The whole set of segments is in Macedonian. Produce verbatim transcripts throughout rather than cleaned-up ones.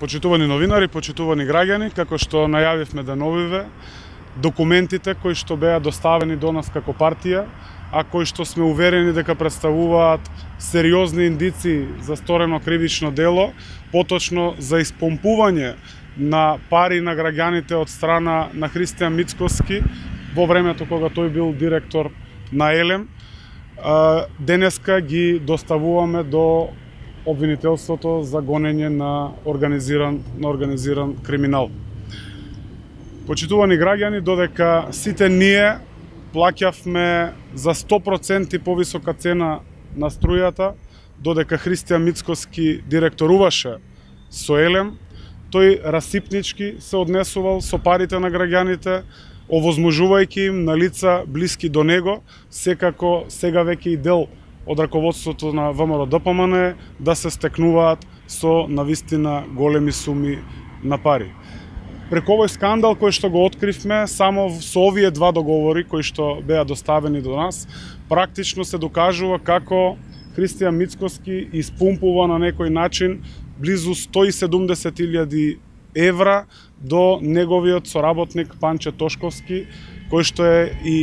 Почитувани новинари, почитувани граѓани, како што најавивме деновиве, документите кои што беа доставени до нас како партија, а кои што сме уверени дека представуваат сериозни индици за сторено кривично дело, поточно за испомпување на пари на граѓаните од страна на Христијан Мицкоски во времето кога тој бил директор на Елем, денеска ги доставуваме до обвинителството за гонење на организиран, на организиран криминал. Почитувани граѓани, додека сите ние плаќавме за сто проценти повисока цена на струјата, додека Христијан Мицкоски директоруваше со Елем, тој расипнички се однесувал со парите на граѓаните, овозможувајќи им на лица блиски до него, секако сега веќе и дел од раководството на ВМРО-ДПМН да се стекнуваат со навистина големи суми на пари. Преку овој скандал кој што го откривме, само со овие два договори кои што беа доставени до нас, практично се докажува како Христијан Мицкоски испумпува на некој начин близу сто и седумдесет илјади евра до неговиот соработник Панче Тошковски, кој што е и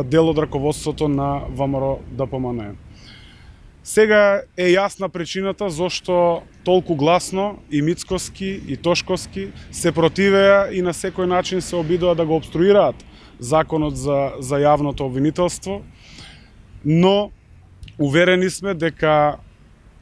дел од раководството на ВМРО-ДПМН. Сега е јасна причината зошто толку гласно и Мицкоски и Тошковски се противеа и на секој начин се обидоа да го обструираат законот за, за јавното обвинителство, но уверени сме дека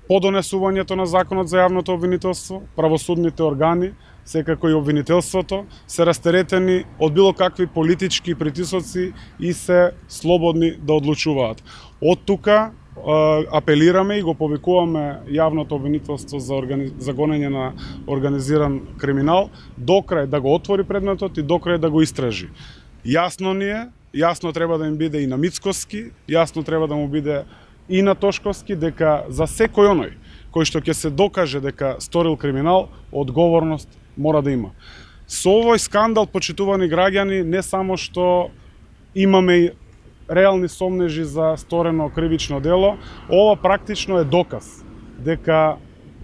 по донесувањето на законот за јавното обвинителство, правосудните органи, секако и обвинителството, се растеретени од било какви политички притисоци и се слободни да одлучуваат. Од тука апелираме и го повикуваме јавното обвинителство за, органи... за гонење на организиран криминал докрај да го отвори предметот и докрај да го истражи. Јасно ни е, јасно треба да им биде и на Мицкоски, јасно треба да му биде и на Тошковски дека за секој оној кој што ќе се докаже дека сторил криминал, одговорност мора да има. Со овој скандал, почитувани граѓани, не само што имаме реални сомнежи за сторено кривично дело, ова практично е доказ дека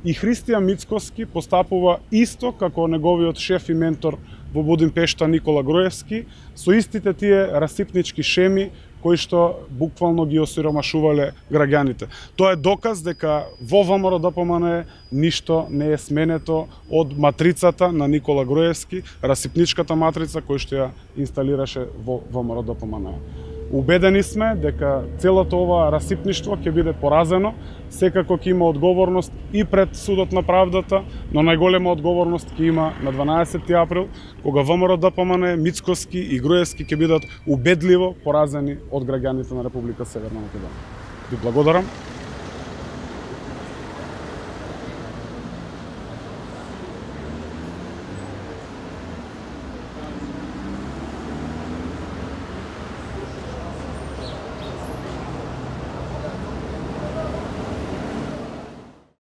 и Христијан Мицкоски постапува исто како неговиот шеф и ментор во Будимпешта Никола Груевски, со истите тие расипнички шеми кои што буквално ги осиромашувале граѓаните. Тоа е доказ дека во ВМРО-ДПМН ништо не е сменето од матрицата на Никола Груевски, расипничката матрица која што ја инсталираше во ВМРО-ДПМН. Убедени сме дека целото ова расипништво ќе биде поразено, секако ќе има одговорност и пред судот на правдата, но најголема одговорност ќе има на дванаесети април, кога ВМРО-ДПМН, Мицкоски и Груевски ќе бидат убедливо поразени од граѓаните на Република Северна Македонија. Ви благодарам.